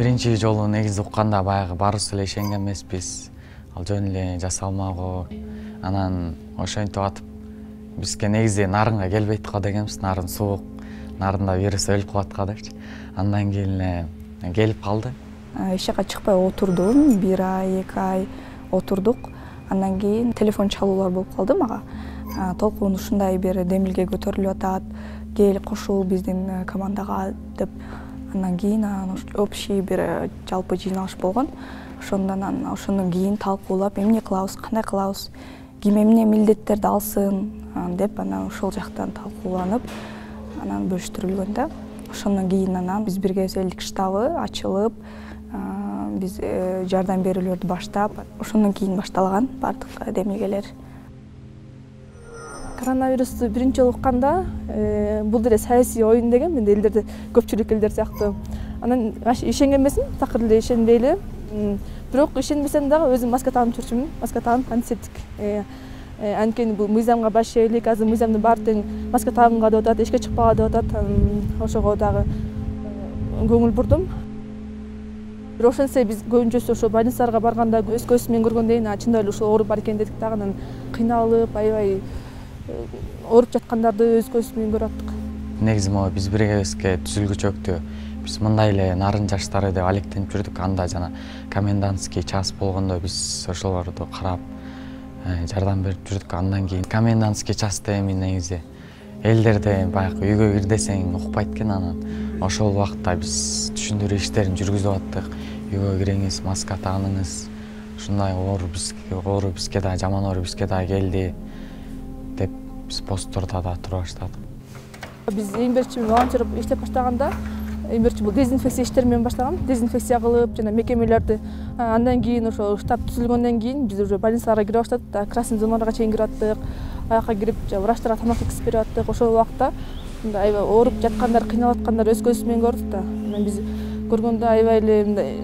биринчи жолу негизи укканда баягы баарыбыз эле ишенген эмеспиз. Ал жөн эле жасалмагы. Анан ошентип атып бизге негизи нарынга келбейт го дегенбиз. Нарын суук, нарында вирус өлүп калат го депчи. Андан кийин эле келип калды. Эч жака чыкпай отурдум, 1 ай, 2 ай отурдук. Андан кийин телефон чалуулар болуп калды мага. Толкун ушундай бир демилге көтөрүлүп атат, кел кошул биздин командага деп. Андан кийин общий бир жалпы жыйналыш болгон. Ошондон ошондон кийин талкуулап эмне кылабыз, кандай кылабыз, ким эмне милдеттерди алсын деп анан ошол жактан талкууланып, анан бөлүштүрүлгөн да. Ошондон кийин анан биз биргемселдик штабы ачылып, биз жардам берүүлөрдү баштап, ошондон кийин башталган бардык демилгелер. Коронавирусту биринчи жолу укканда бул деле саясий оюн деген мен элдерде көпчүлүк элдер сыяктуу. Анан ишенген эмесмин, такыр эле ишенбей эле. Бирок ишенбесем дагы өзүм маска тагып жүрчүмүн. Маска тагып антисептик. Анткени бул мыйзамга баш ийелик, азыр мыйзамдын баары тең маска тагынга деп атат, эчке чыкпага деп атат. Ошого дагы көңүл бурдум. Бирок ошентсе биз көбүнчөсү ошо больницаларга барганда өз көзүбүз менен көргөндөн кийин чындап эле ушул ооруп бар экен дедик дагы, анан кыйналып, аябай ооруп жаткандарды өз көзүбүз менен көрүп аттык. Негизи могу биз биргебизге түзүлгүчөктү биз мындай эле нарын жаштары деп алектенип жүрдүк. Анда жана комендантский час болгондо биз ошолорду карап жардам берип жүрдүк. Андан кийин комендантский часта эми негизи элдерде баягы үйгө кир десең укпайт экен. Анан ошол убакта биз түшүндүрүү иштерин жүргүзүп аттык. Үйгө кириңиз, маска тагыныңыз. Ушундай оору бизге да жаман оору бизге да келди деп биз посттордо да тура баштадык. Биз эң биринчи волонтер иштеп баштаганда эң биринчи бул дезинфекция иштери менен баштаган. Дезинфекция кылып, жана мекемелерди. Андан кийин ошо штаб түзүлгөндөн кийин биз уже больницаларга кире баштадык. Красный зоналарга чейин кирип аттык. Аяка кирип, врачтарга тамак жеткизип берип аттык. Ошол убакта мындай аябай ооруп жаткандар, кыйналып аткандар өз көзүбүз менен көрдүк да. Анан биз көргөндө аябай эле мындай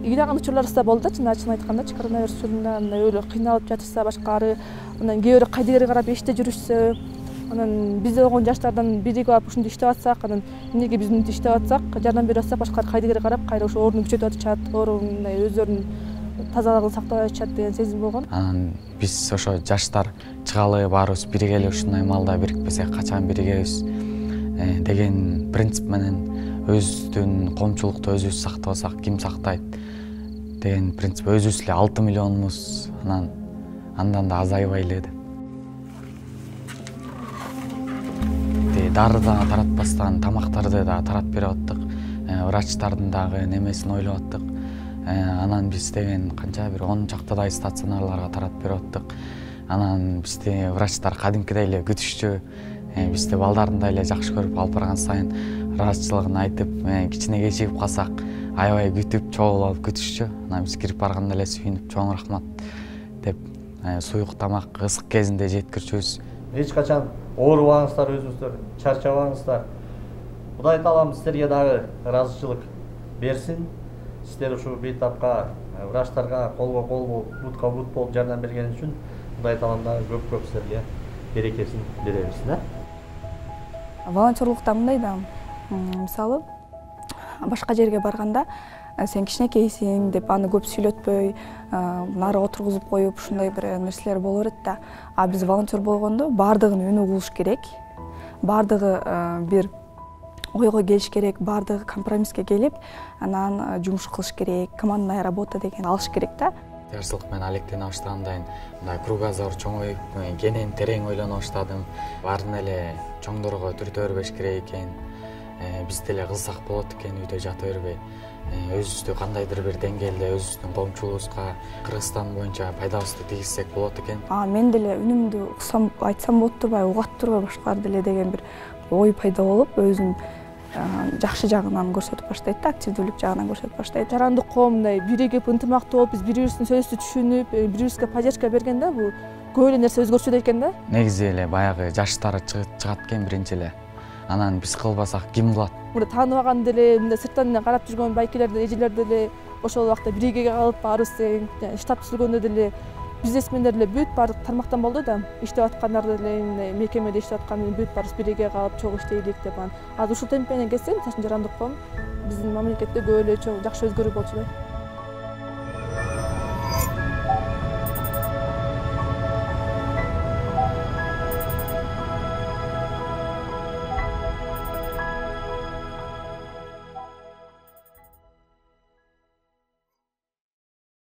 ыйлаган учурларыбыз да болду да, чын айткандачы, коронавирус учурунда мындай өлө кыйналып жатышса башкары, анан кээ бирөө кайдыгерге карап эшикте жүрүшсө, анан бизде болгон жаштардан бири барып ушунда иштеп атсак, анан эмнеге биз мынтип иштеп атсак, жардам берип атсак, башкалар кайдыгерге карап кайра ошо ордуну күчөтүп атышат, оору мындай өздөрүнүн тазалыгын сактап атышат деген сезим болгон. Анан биз ошо жаштар чыгалы, баарыбыз биригели, ушундай маалда бирикпесек качан биригебиз деген принцип менен өзүбүздүн коомчулукту өзүбүз сактабасак ким сактайт деген принцип. Өзүбүз эле 6 миллионубуз, андан да азайбай эле деп. Дары да таратпастан тамактарды да таратып берип аттык. Врачтардын дагы немесин ойлоп аттык. Анан биз деген канча бир 10 чактадай стационарларга таратып берип аттык. Анан бизди врачтар кадимкидей эле күтүшчү. Бизди балдарын эле жакшы көрүп алып барган сайын ыраазычылыгын айтып, кичине кечигип калсак аябай күтүп, чогулуп күтүшчү. Анан биз кирип барганда эле сүйүнүп, чоң рахмат деп суюк тамак ысык кезинде жеткирчүбүз. Эч качан оорубаңыздар, өзүңүздөр чарчабаңыздар. Кудай таалам сиздерге дагы ыраазычылык берсин. Сиздер ушу бейтапка врачтарга колго кол, бутка бут болуп жардам берген үчүн Кудай таалам дагы көп сиздерге берекесин бере берсин. Волонтерлукта мындай да, мисалы башка жерге барганда сен кичинекейсиң деп аны көп сүйлөтпөй, нары отургузуп коюп, ушундай бир нерселер боло берет да. А биз волонтер болгондо баардыгын өнү кылыш керек. Баардыгы бир ойго келиш керек, баардыгы компромисске келип, анан жумуш кылыш керек, командная работа деген алыш керек да. Жарсылык менен алектене баштагандан мындай кругозор чоңоюп, кенен терең ойлоно баштадым. Баарын эле чоңдорго түртө бербеш керек экен. Биз деле кылсак болот экен, үйдө жата бербей. Өзүбүздү кандайдыр бир деңгээлде өзүбүздүн коомчулугубузга Кыргызстан боюнча пайдабызды тийгизсек болот экен. Мен деле үнүмдү уксам, айтсам болот турбайбы, угат турбайбы башкалар деле деген бир ой пайда болуп, өзүм жакшы жагынан көрсөтүп баштайт да, активдүүлүк жагынан көрсөтүп баштайт. Жарандык коом мындай биригип, ынтымактуу болуп, биз бири-бирибиздин сөзүбүздү түшүнүп, бири-бирибизге поддержка бергенде бул көп эле нерсе өзгөрчү экен да. Негизи эле баягы жаштар чыгат экен биринчи эле. Анан биз кылбасак ким кылат? Мында тааныбаган деле, мында сырттан карап жүргөн байкелер, эжелер деле ошол убакта биригеге калып баарыбыз штаб түзүлгөндө деле бизнесмендер эле бүт баардык тармактан болду да, иштеп аткандар деле мекемеде иштеп аткан бүт баарыбыз бирге калып чогуу иштейлик деп анан азыр ушул темп менен кетсе, мисалы үчүн Жарандык ком биздин мамлекетте көп эле жакшы өзгөрүү болчу да.